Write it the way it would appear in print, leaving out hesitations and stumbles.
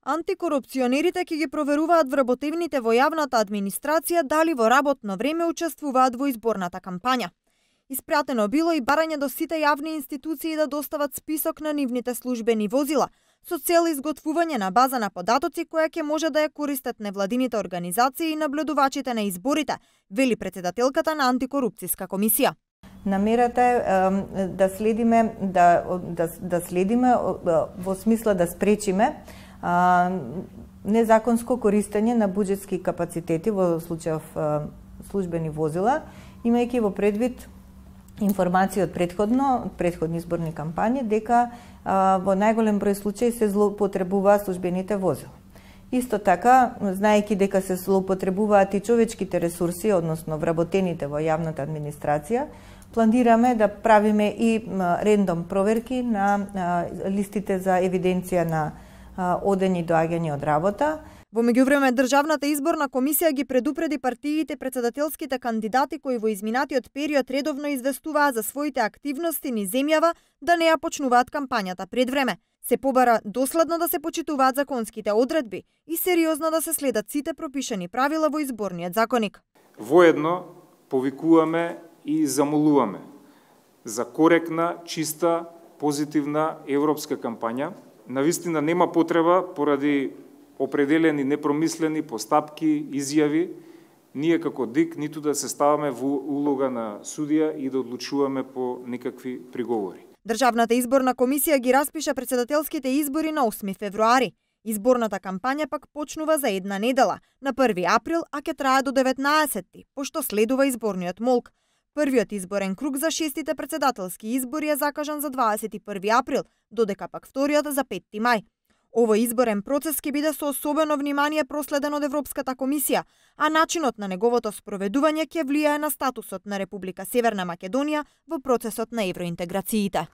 Антикорупционерите ќе ги проверуваат вработевните во јавната администрација дали во работно време учествуваат во изборната кампања. Испратено било и барање до сите јавни институции да достават список на нивните службени возила, со цел изготвување на база на податоци која ќе може да ја користат невладините организации и наблюдувачите на изборите, вели председателката на антикорупцијска комисија. Намерата е да следиме во смисла да спречиме незаконско користење на буџетски капацитети во случајов службени возила, имајќи во предвид информации од предходни изборни кампањи дека во најголем број случаи се злоупотребуваат службените возила. Исто така, знаејќи дека се злоупотребуваат и човечките ресурси, односно вработените во јавната администрација, планираме да правиме и рендом проверки на листите за евиденција на одење и доаѓање од работа. Во меѓувреме, Државната изборна комисија ги предупреди партиите председателските кандидати кои во изминатиот период редовно известуваа за своите активности низ земјава да не ја почнуваат кампањата пред време. Се побара доследно да се почитуваат законските одредби и сериозно да се следат сите пропишани правила во изборниот законник. Воедно повикуваме и замолуваме за коректна, чиста, позитивна европска кампања. Навистина нема потреба поради определени непромислени постапки, изјави, ние како ДИК ниту да се ставаме во улога на судија и да одлучуваме по некакви приговори. Државната изборна комисија ги распиша председателските избори на 8 февруари. Изборната кампања пак почнува за една недела, на 1 април, а ќе трае до 19, пошто следува изборниот молк. Првиот изборен круг за 6-тите председателски избори е закажан за 21 април, додека пак вториот за 5 мај. Овој изборен процес ќе биде со особено внимание проследен од Европската комисија, а начинот на неговото спроведување ќе влијае на статусот на Република Северна Македонија во процесот на евроинтеграциите.